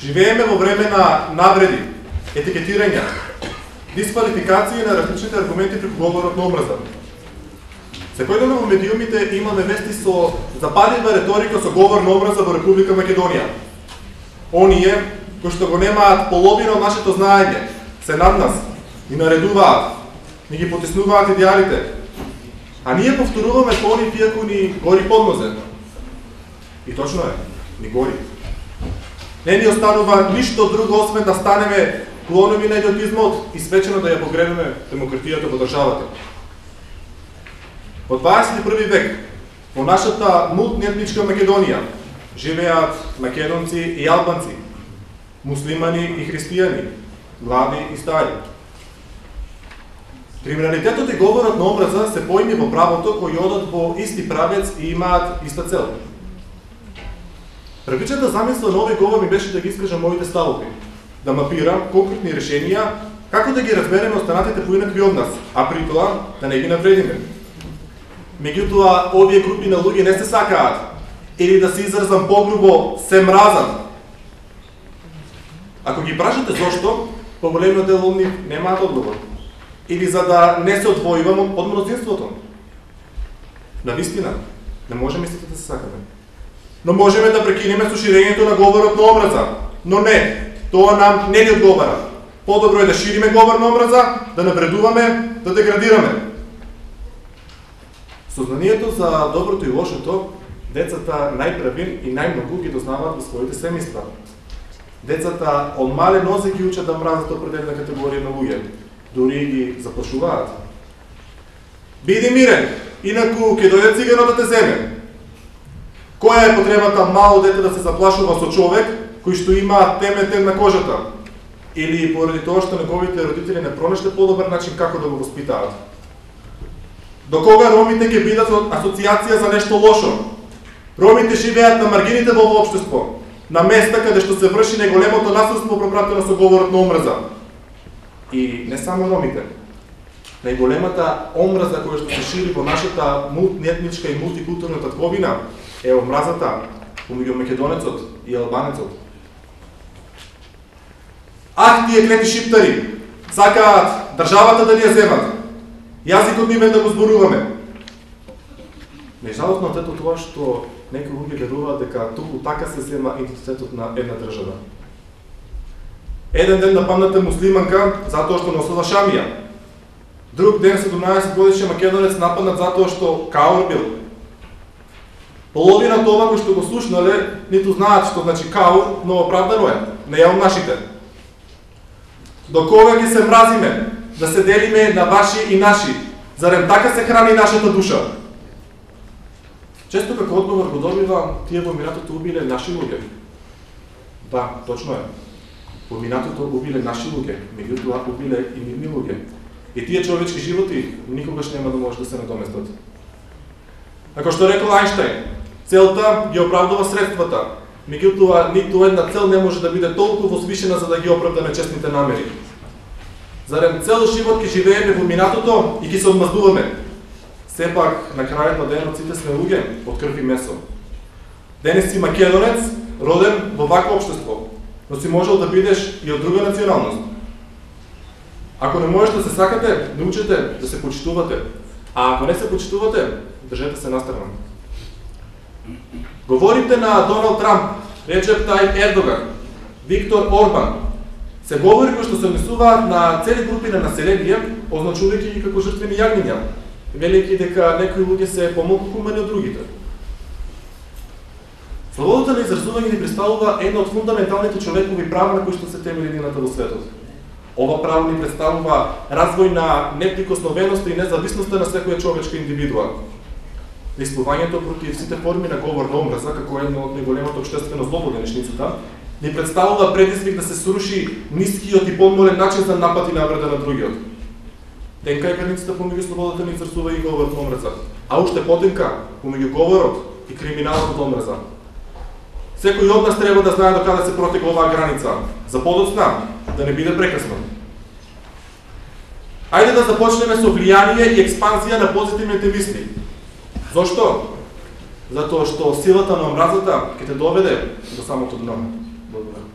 Живееме во време на навреди, етикетирања, дисквалификации на различните аргументи преку говорот на омраза. Секојдневно во медиумите имаме вести со запалива реторика со говор на омраза во Република Македонија. Оние кои што го немаат половина од нашето знаење, се над нас, ни наредуваат, ни ги потиснуваат идеалите, а ние повторуваме по они иако ни гори под нозе. И точно е, ни гори. Не ни останува ништо друго освен да станеме клонови на идиотизмот и свечено да ја погребеме демократијата во државата. Во 21 век, во нашата мултиетничка Македонија, живеат македонци и албанци, муслимани и христијани, млади и стари. Криминалитетот и говорот на омраза се поими во правото кои одат во исти правец и имаат иста цел. Првичната замисла на овој говор ми беше да ги искажам моите ставови, да мапирам конкретни решенија како да ги разбереме останатите поинакви од нас, а при тоа да не ги навредиме. Меѓутоа, овие групи на луѓе не се сакаат, или да се изразам погрубо, се мразат. Ако ги прашате зошто, поголемиот дел од нив немаат одговор. Или за да не се одвојувам од мнозинството. Навистина, не можеме сите да се сакаме. Но можеме да прекинеме со ширењето на говорот на омраза. Но не, тоа нам не ни одговара. Подобро е да шириме говор на омраза, да навредуваме, да деградираме. Сознанието за доброто и лошото, децата најправин и најмногу ги дознаваат во своите семејства. Децата од мале нозе ги учат да мразат определена категорија на луѓе, дури ги заплашуваат. Биди мирен, инаку ќе дојде циганот да те земе. Која е потребата мало дете да се заплашува со човек кој што има теметен на кожата? Или поради тоа што неговите родители не пронеште подобар начин како да го воспитаат? До кога ромите ќе бидат асоциација за нешто лошо? Ромите живеат на маргините во овој општество, на места каде што се врши најголемото насилство пропратено со говорот на омраза. И не само ромите. Најголемата омраза која што се шири во нашата мултиетничка и мултикултурна татковина е омразата помеѓу македонецот и албанецот. Ах, тие клети шиптари, сакаат државата да ни ја земат, јазикот ни да го зборуваме. Најжалосно е тоа што некои луѓе веруваат дека туку така се зема идентитетот на една држава. Еден ден нападната муслиманка затоа што носела шамија. Друг ден 17 годишен македонец нападнат затоа што каор бил. Половина тоа кои што го слушнале, ниту знаат што значи каор, но оправдано е, не ја нашите. До кога ќе се мразиме, да се делиме на ваши и наши, зарем така се храни нашата душа? Често како одговор го добива, тие во минатото убиле наши луѓе. Да, точно е. Во минатото убиле наши луѓе, меѓутоа убиле и нивни луѓе. И тие човечки животи никогаш нема да може да се надоместат. Како што рекол Ајнштајн, целта ги оправдува средствата, меѓутоа ниту една цел не може да биде толку возвишена за да ги оправда нечестните намери. Зарем цел живот ќе живееме во минатото и ќе се одмаздуваме. Сепак, на крајот на денот сите сме луѓе од крв и месо. Денес си македонец, роден во вакво општество, но си можел да бидеш и од друга националност. Ако не можете да се сакате, научете да се почитувате. А ако не се почитувате, држете се настрана. Говорите на Доналд Трамп, Реджеп Тајип Ердоган, Виктор Орбан, се говори кои што се однесуваат на цели групи на население, означувајќи ги како жртвени јагниња, велики дека некои луѓе се помалку хумани од другите. Слободата на изразување ни представува една од фундаменталните човекови права на кои што се темели едината во светот. Ова право ни представува развој на неприкосновеноста и независноста на секоја човечка индивидуа. Действувањето против сите форми на говор на омраза, како едно од најголемото општествено зло во денешницата, ни представува предизвик да се сруши нискиот и подмолен начин за напад и навреда на другиот. Тенка е границата помеѓу слободата на изразување и говорот на омраза, а уште потенка помеѓу говорот и криминалот од омраза. Секој од нас треба да знае до каде се протега оваа граница, за подоцна да не биде прекасно. Ајде да започнеме со влијание и експанзија на позитивните мисли. Зошто? Затоа што силата на омразата ќе те доведе до самото дно. Благодарам.